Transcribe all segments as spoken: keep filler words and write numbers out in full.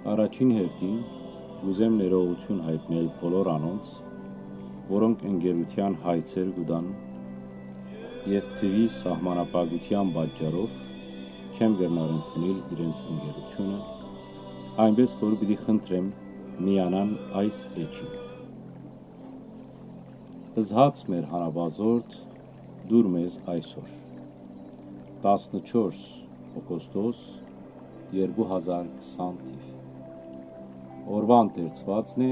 Առաջին հերթին, կ'ուզեմ ներողութիւն յայտնել բոլոր անոնց, որոնք ընկերութեան հայցեր կու տան եւ թուի սահմանափակութեան պատճառով չեմ կրնար ընդունել իրենց ընկերութիւնը, այնպէս որ պիտի խնդրեմ միանան այս էջին։ Զհաց մեր հանապազորդ, դուր մեզ այսօր։ Տասնչորս օգոստոս, երկու հազար քսան թիվ։ Օրուան դերձուածն է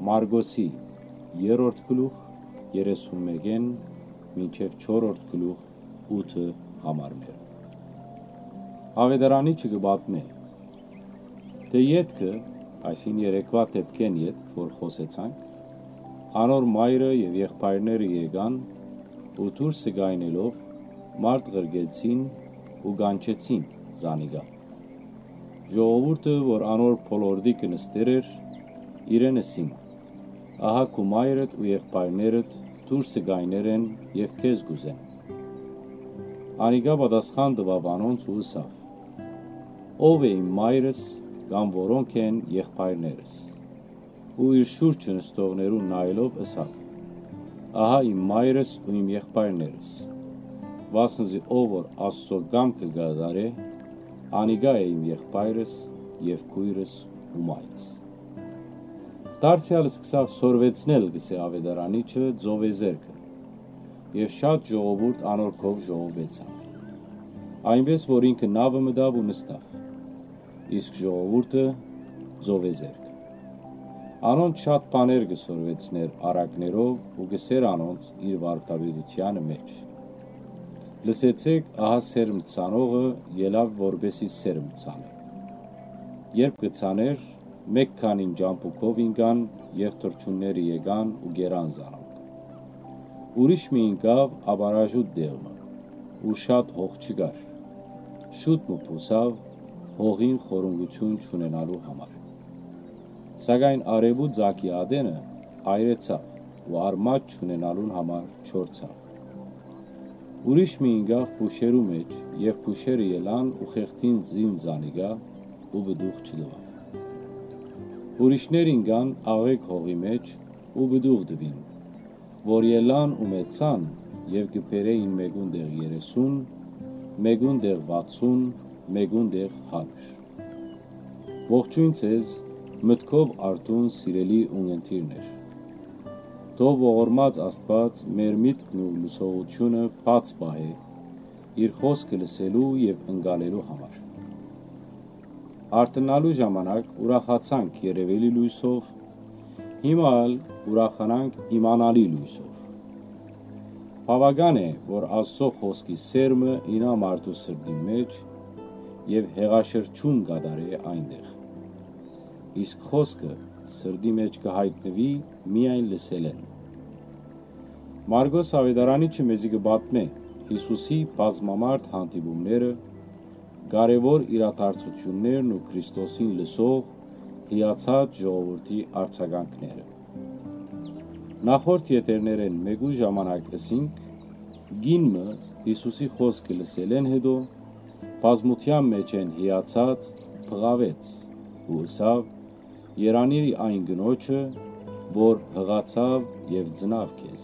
Մարկոսի երրորդ գլուխ, երեսուն մէկէն մինչեւ չորրորդ գլուխ, ութը համարներ։ Աւետարանիչը կը պատմէ, թէ ետքը, այսինքն երեկվա դէպքէն ետք, որ խօսեցանք, անոր մայրը եւ եղբայրները եկան ու դուրսը կայնելով մարդ ղրկեցին ու կանչեցին զանիկա։ Ժողովուրդը, որ անոր բոլորտիքը նստեր էր, իրեն ըսին. «Ահա քու մայրդ ու եղբայրներդ դուրսը կայներ են եւ քեզ կ'ուզեն»։ Անիկա պատասխան տուաւ անոնց ու ըսաւ. «Ո՞վ է իմ մայրս կամ որո՞նք են եղբայրներս»։ Ու իր շուրջը նստողներուն նայելով ըսաւ. «Ահա իմ մայրս ու իմ եղբայրներս։ Վասն զի ով որ Աստուծոյ կամքը կը կատարէ, անիկա է իմ եղբայրս եւ քոյրս ու մայրս»։ Դարձեալ սկսաւ սորվեցնել, կ'ըսէ աւետարանիչը, ծովեզերքը, եւ շատ ժողովուրդ անոր քով ժողովուեցան։ Այնպէս որ ինքը նաւը մտաւ ու նստաւ, իսկ ժողովուրդը՝ ծովեզերքը։ Անոնց շատ բաներ կը սորվեցնէր առակներով ու կ'ըսէր անոնց իր վարդապետութեանը մէջ. «Լսեցէք, ահա սերմ ցանողը ելաւ որպէսզի սերմ ցանէ։ Երբ կը ցանէր, մէկ քանին ճամբուկով ինկան եւ թռչունները եկան ու կերան զանոնք։ Ուրիշ մը ինկաւ ապարաժուտ տեղ մը, ուր շատ հող չկար։ Շուտ մը բուսաւ՝ հողին խորունկութիւն չունենալու համար։ Սակայն արեւու ծակի ատենը այրեցաւ ու արմատ չունենալուն համար չորցաւ։ Ուրիշ մը ինկաւ փուշերու մէջ, եւ փուշերը ելան ու խեղդին զին զանիկա ու պտուղ չտուաւ։ Ուրիշներ ինկան աղէկ հողի մէջ ու պտուղ տուին, որ ելան ու մեծցան եւ կը բերէին մէկուն տեղ երեսուն, մէկուն տեղ վաթսուն, մէկուն տեղ հարիւր»։ Ողջոյն ձեզ, մտքով արթուն, սիրելի ունգընտիրներ։ Թող ողորմած Աստուած մեր միտքն ու լսողութիւնը բաց պահէ իր խօսքը լսելու եւ ընկալելու համար։ Արթննալու ժամանակ ուրախացանք երեւելի լոյսով, հիմա ալ ուրախանանք իմանալի լոյսով։ Բաւական է, որ Աստուծոյ խօսքի սերմը իյնայ մարդու սրտին մէջ եւ հեղաշրջում կատարէ այնտեղ։ Իսկ խօսքը սրտի մէջ կը յայտնուի միայն լսելէն։ Մարկոս աւետարանիչը մեզի կը պատմէ Յիսուսի բազմամարդ հանդիպումները, կարեւոր իրադարձութիւններն ու Քրիստոսին լսող հիացած ժողովուրդի արձագանքները։ Նախորդ եթերներէն մէկու ժամանակ ըսինք, կին մը Յիսուսի խօսքը լսելէն յետոյ, բազմութեան մէջէն հիացած բղաւեց ու ըսաւ. «Երանի այն կնոջը, որ յղացաւ եւ ծնաւ քեզ»։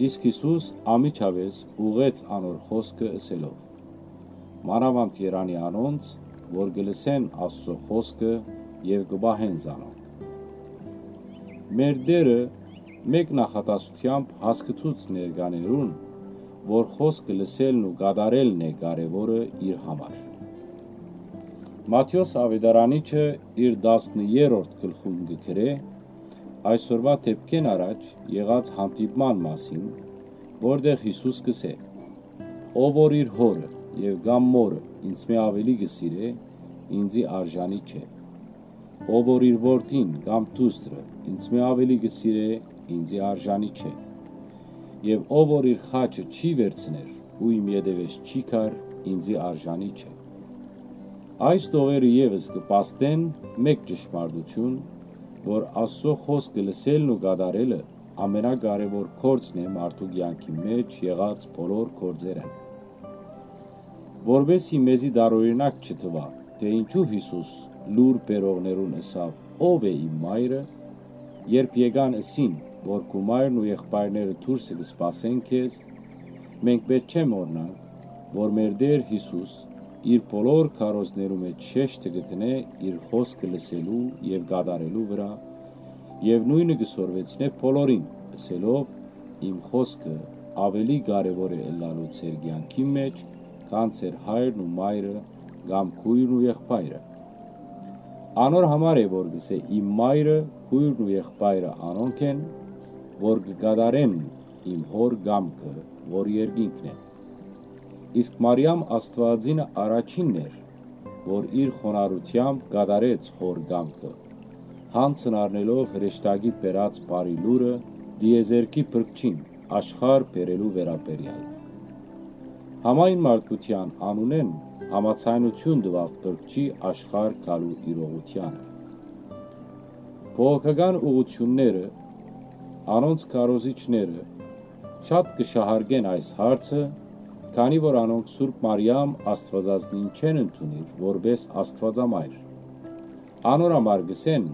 Իսկ Յիսուս անմիջապէս ուղղեց անոր խօսքը ըսելով. «Մանաւանդ երանի անոնց, որ կը լսեն Աստուծոյ խօսքը եւ կը պահեն զանոնք»։ Մեր Տէրը մէկ նախատասությամբ հասկցուց ներկաներուն, որ խօսքը լսելն ու կատարելն է կարեւորը իր համար։ Մատթէոս աւետարանիչը իր տասներորդ գլխուն կը գրէ այսօրուայ դէպքէն առաջ եղած հանդիպման մասին, որտեղ Յիսուս կ'ըսէ. «Ով որ իր հօրը եւ կամ մօրը ինծմէ աւելի կը սիրէ, ինծի արժանի չէ։ Ով որ իր որդին կամ դուստրը ինծմէ աւելի կը սիրէ, ինծի արժանի չէ։ Եւ ով որ իր խաչը չի վերցներ ու իմ ետեւէս չի գար, ինծի արժանի չէ»։ Այս տողերը եւս կը փաստեն մէկ ճշմարտութիւն, որ Աստուծոյ խօսքը լսելն ու կատարելը ամենակարեւոր գործն է մարդու կեանքի մէջ եղած բոլոր գործերէն։ Որպէս զի մեզի տարօրինակ չթուայ թէ ինչու Յիսուս լուր բերողներուն ըսաւ. «Ո՞վ է իմ մայրը»։ Երբ եկան, ըսին որ քու մայրն ու եղբայրները դուրսը կը սպասեն քեզ, մենք պէտք չէ մոռնանք, որ մեր Տէր Յիսուս իր բոլոր քարոզներու մէջ շեշտը կը դնէ իր խօսքը լսելու եւ կատարելու վրայ, եւ նոյնը կը սորվեցնէ բոլորին, ըսելով. «Իմ խօսքը աւելի կարեւոր է ըլլալու ձեր կեանքին մէջ, քան ձեր հայրն ու մայրը կամ քոյրն ու եղբայրը»։ Անոր համար է որ կ'ըսէ. «Իմ մայրը, քոյրն ու եղբայրը անոնք են, որ կը կատարեն իմ հօր կամքը, որ երկինքն է»։ Իսկ Մարիամ Աստուածինը առաջինն էր, որ իր խոնարհութեամբ կատարեց հօր կամքը, յանձն առնելով հրեշտակի բերած բարի լուրը տիեզերքի փրկչին աշխարհ բերելու վերաբերեալ։ Համայն մարդկութեան անունէն համաձայնութիւն տուաւ փրկչի աշխարհ գալու իրողութեանը։ Բողոքական ուղղութիւնները, անոնց քարոզիչները շատ կը շահարկեն այս հարցը, քանի որ անոնք Սուրբ Մարիամ Աստուածածնին չեն ընդունիր որպէս Աստուածամայր։ Անոր համար կ'ըսեն,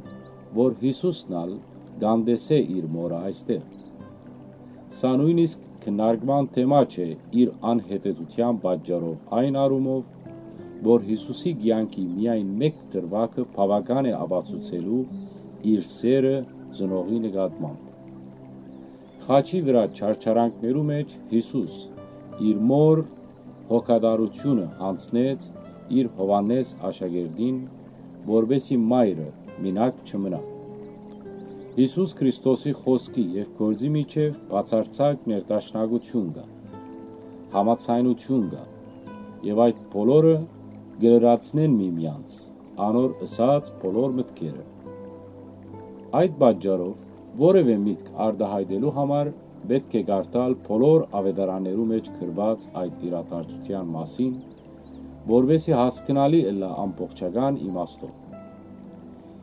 որ Յիսուսն ալ կ'անտեսէ իր մօրը այստեղ։ Սա նոյնիսկ քննարկման թեմա չէ իր անհետեթութեան պատճառով, այն առումով, որ Յիսուսի կեանքի միայն մէկ դրուագը բաւական է ապացուցելու իր սերը ծնողի նկատմամբ։ Խաչի վրայ չարչարանքներու մէջ Յիսուս իր մօր հոգատարութիւնը յանձնեց իր Յովհաննէս աշակերտին, որպէսզի մայրը մինակ չմնայ։ Յիսուս Քրիստոսի խօսքի եւ գործի միջեւ բացարձակ ներդաշնակութիւն կայ, համաձայնութիւն կայ, եւ այդ բոլորը կը լրացնեն միմյանց անոր ըսած բոլոր մտքերը։ Այդ պատճառով որեւէ միտք արտայայտելու համար պէտք է կարդալ բոլոր աւետարաններու մէջ գրուած այդ իրադարձութեան մասին, որպէսզի հասկնալի ըլլայ ամբողջական իմաստով։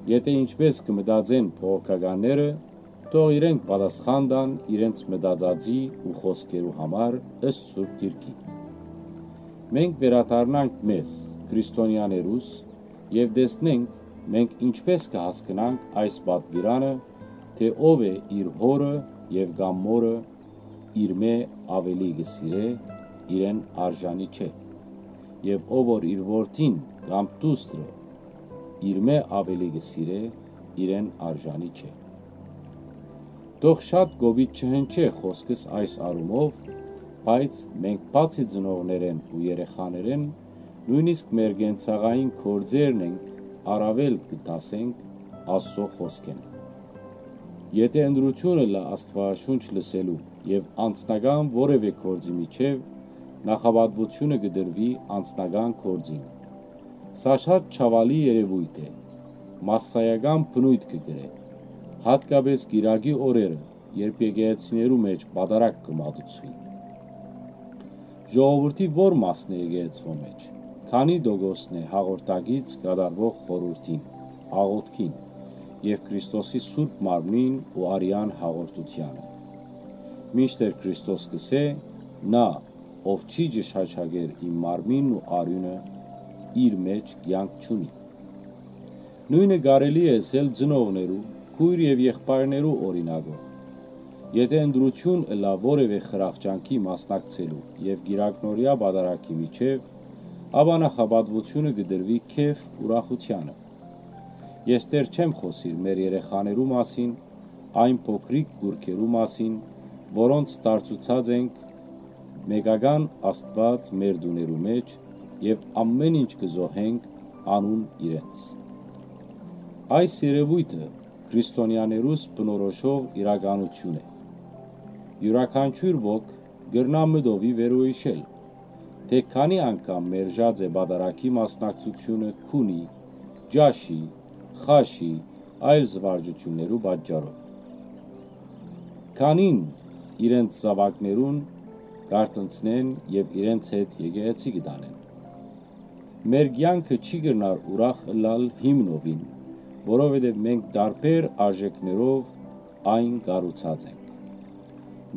Եթէ ինչպէս կը մտածեն բողոքականները, թող իրենք պատասխան տան իրենց մտածածի ու խօսքերու համար ըստ Սուրբ Գիրքի։ Մենք վերադառնանք մեզ, քրիստոնեաներուս, եւ տեսնենք մենք ինչպէս կը հասկնանք այս պատկերանը, թէ ով է իր հօրը եւ կամ մօրը իրմէ աւելի կը սիրէ, իրեն արժանի չէ, եւ ով որ իր որդին կամ դուստրը իրմէ աւելի կը սիրէ, իրեն արժանի չէ։ Թող շատ կոպիտ չհնչէ խօսքս այս առումով, բայց մենք բացի ծնողներէն ու երեխաներէն, նոյնիսկ մեր կենցաղային գործերն ենք առաւել կը դասենք Աստուծոյ խօսքէն։ Եթէ ընտրութիւն ըլլայ Աստուածաշունչ լսելու եւ անձնական որեւէ գործի միջեւ, նախապատուութիւնը կը տրուի անձնական գործին։ Սա շատ ցաւալի երեւոյթ է, մասսայական բնոյթ կը կրէ, յատկապէս կիրակի օրերը, երբ եկեղեցիներու մէջ պատարագ կը մատուցուի։ Ժողովուրդի ո՞ր մասն է եկեղեցւոյ մէջ, քանի՞ տոկոսն է հաղորդակից կատարուող խորհուրդին, աղօթքին եւ Քրիստոսի Սուրբ Մարմնին ու արեան հաղորդութեանը։ Մինչդեռ Քրիստոս կ'ըսէ. «Նա, ով չի ճշմարիտ իմ մարմինն ու արիւնը, իր մէջ կեանք չունի»։ Նոյնը կարելի է ըսել ծնողներու, քոյր եւ եղբայրներու օրինակով։ Եթէ ընտրութիւն ըլլայ որեւէ խրախճանքի մասնակցելու եւ կիրակնօրեայ պատարագի միջեւ, ապա նախապատուութիւնը կը տրուի քեֆ ուրախութեանը։ Ես դեռ չեմ խօսիր մեր երեխաներու մասին, այն փոքրիկ կուռքերու մասին, որոնց դարձուցած ենք մեկական Աստուած մեր տուներու մէջ եւ ամէն ինչ կը զոհենք անուն իրենց։ Այս երեւոյթը քրիստոնեաներուս բնորոշող իրականութիւն է։ Իւրաքանչիւր ոք կրնայ մտովի վերոյիշել, թէ քանի՞ անգամ մերժած է պատարագի մասնակցութիւնը քունի, ճաշի, խաշի, այլ զուարճութիւններու պատճառով։ Քանին իրենց զաւակներուն կ'արթնցնեն եւ իրենց հետ եկեղեցի կը տանեն։ Մեր կեանքը չի կրնար ուրախ ըլլալ հիմնովին, որովհետեւ մենք տարբեր արժէքներով այն կառուցած ենք։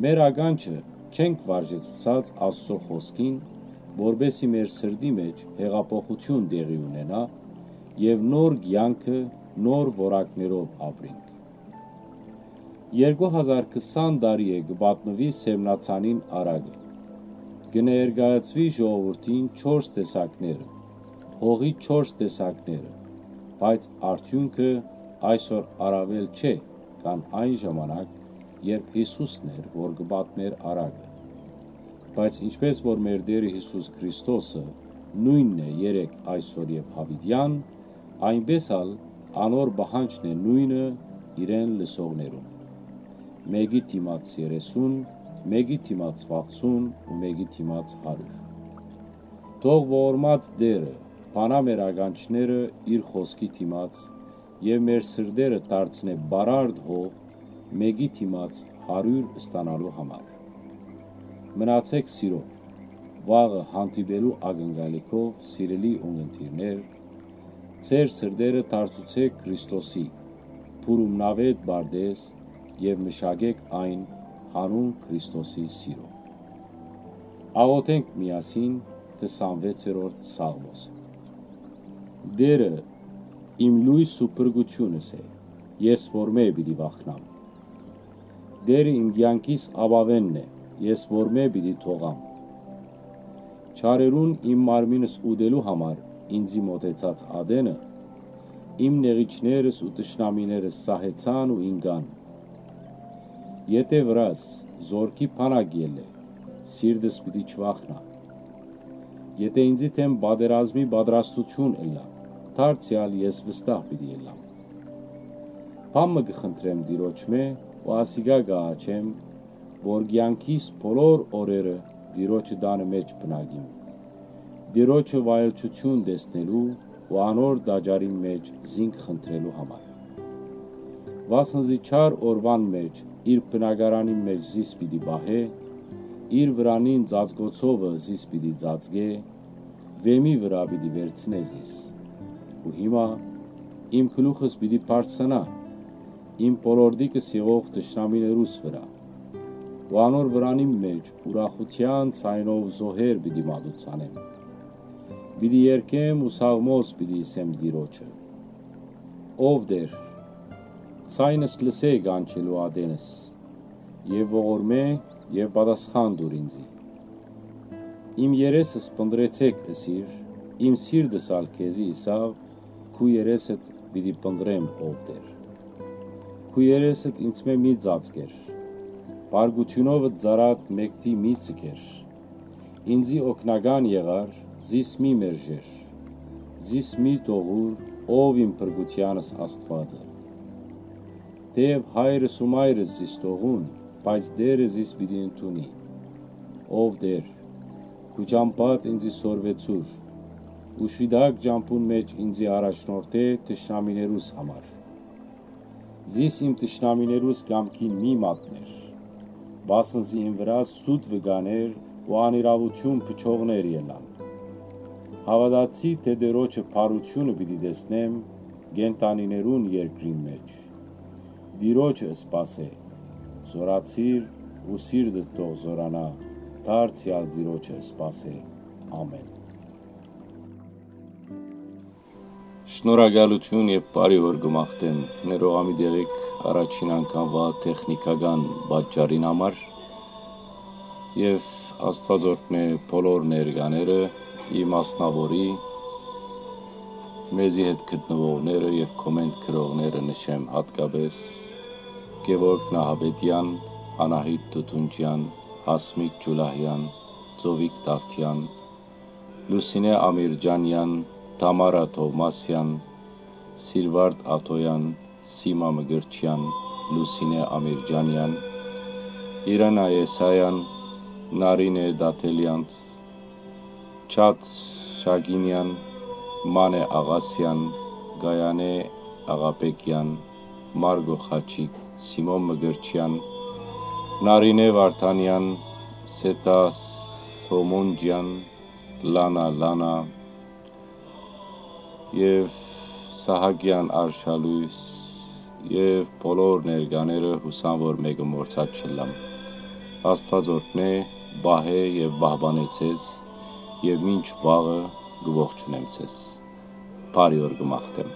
Մեր ականջը չենք վարժեցուցած Աստուծոյ խօսքին, որպէս զի մեր սրտի մէջ հեղափոխութիւն տեղի ունենայ եւ նոր կեանքը նոր որակներով ապրինք։ Երկու հազար քսան տարի է կը պատմուի Սեւնացանին առակը։ Կը ներկայացուի ժողովուրդին չորս տեսակները, հողի չորս տեսակները, բայց արդիւնքը այսօր առաւել չէ, քան այն ժամանակ, երբ Յիսուսն էր, որ կը պատմէր առակը։ Բայց ինչպէս որ մեր Տէրը Յիսուս Քրիստոսը նոյնն է երեկ, այսօր եւ յաւիտեան, այնպէս ալ անոր պահանջն է նոյնը իրեն լսողներուն։ Մէկի դիմաց երեսուն, մէկի դիմաց վաթսուն ու մէկի դիմաց հարիւր։ Թող ողորմած Տէրը բանայ մեր ականջները իր խօսքի դիմաց եւ մեր սրտերը դարձնէ բարարդ հող մէկի դիմաց հարիւր ստանալու համար։ Մնացէք սիրով, վաղը հանդիպելու ակնկալիքով, սիրելի ունգընտիրներ, ձեր սրտերը դարձուցէք Քրիստոսի, փուրումնաւէտ պարտէզ եւ մշակէք այն յանուն Քրիստոսի սիրով։ Աղօթենք միասին քսանվեցերորդ Սաղմոսը։ Տէրը իմ լոյս ու փրկութիւնս է, ես որմէ պիտի վախնամ։ Տէրը իմ կեանքիս ապաւէնն է, ես որմէ պիտի դողամ։ Չարերուն իմ մարմինս ուտելու համար ինծի մօտեցած ատենը, իմ նեղիչներս ու թշնամիներս սահեցան ու ինկան։ Եթէ վրաս զորքի բանակ ելլէ, սիրտս պիտի չվախնայ։ Եթէ ինծի դէմ պատերազմի պատրաստութիւն ըլլայ, դարձեալ ես վստահ պիտի ելլամ։ Բան մը կը խնդրեմ Տիրոջմէ ու ասիկա կը աղաչեմ, որ կեանքիս բոլոր օրերը Տիրոջը տանը մէջ բնակիմ, Տիրոջը վայելչութիւն տեսնելու ու անոր տաճարին մէջ զինք խնդրելու համար։ Վասն զի չար օրուան մէջ իր բնակարանին մէջ զիս պիտի պահէ, իր վրանին ծածկոցովը զիս պիտի ծածկէ, վէմի վրայ պիտի վերցնէ զիս։ Ու հիմա իմ գլուխս պիտի բարձրանայ իմ բոլորտիկս եղող թշնամիներուս վրայ, ու անոր վրանին մէջ ուրախութեան ձայնով զոհեր պիտի մատուցանեմ։ Պիտի երգեմ ու սաղմոս պիտի ըսեմ Տիրոջը. «Ով Տէր, ձայնս լսէ կանչելու ատենս, եւ ողորմէ եւ պատասխան տուր ինծի։ Իմ երեսս փնտռեցէք», ըսիր, իմ սիրտս ալ քեզի ըսաւ, «Քու երեսդ պիտի փնտռեմ, ով Տէր։ Քու երեսդ ինծմէ մի ծածկեր, բարկութիւնովդ ծառադ մեկդի մի ձգեր։ Ինծի օգնական եղար, զիս մի մերժեր, զիս մի տողուր, ով իմ փրկութեանս Աստուածը։ Թէեւ հայրս ու մայրս զիս տողուն, բայց Տէրը զիս պիտի ընդունի։ Ով Տէր, քու ճամբադ ինծի սորվեցուր, ու շիտակ ճամբուն մէջ ինծի առաջնորդէ թշնամիներուս համար։ Զիս իմ թշնամիներուս կամքին մի մատներ, վասն զի իմ վրայ սուտ վկաներ ու անիրաւութիւն փչողներ ելան։ Հաւատացի թէ Տիրոջը բարութիւնը պիտի տեսնեմ կենդանիներուն երկրին մէջ։ Տիրոջը սպասէ, զօրացիր ու սիրտդ թող զօրանայ, դարձեալ Տիրոջը սպասէ։ Ամէն։ Շնորհակալութիւն եւ բարի օր կը մաղթեմ։ Ներողամիտ եղէք առաջին անգամուա տեխնիկական պատճառին համար, եւ Աստուած օրհնէ բոլոր ներկաները, իմ մասնաւորի, մեզի հետ գտնուողները եւ կոմենտ գրողները նշեմ յատկապէս Գեւորգ Նահապետեան, Անահիտ Տուտունջեան, Հասմիկ Ջուլահեան, Ծովիկ Դավթեան, Լուսինե Ամիրճանեան, Թամարա Թովմասեան, Սիլվարդ Աթոյան, Սիմա Մկրտչեան, Լուսինե Ամիրճանեան, Իրանա Եսայան, Նարինե Դաթելեանց, Չաթ Շագինեան, Մանե Աղասեան, Գայանե Աղաբեկեան, Մարգո Խաչիկ, Սիմոն Մկրտչեան, Նարինե Վարդանեան, Սեթա Սոմոնջեան, Լանա Լանա եւ Սահակեան Արշալույս եւ բոլոր ներկաները, յուսամ որ մէկը մոռցած չըլլամ։ Աստուած օրհնէ, պահէ եւ պահպանէ ձեզ, եւ մինչ վաղը կը ողջունեմ ձեզ։ Բարի օր կը մաղթեմ։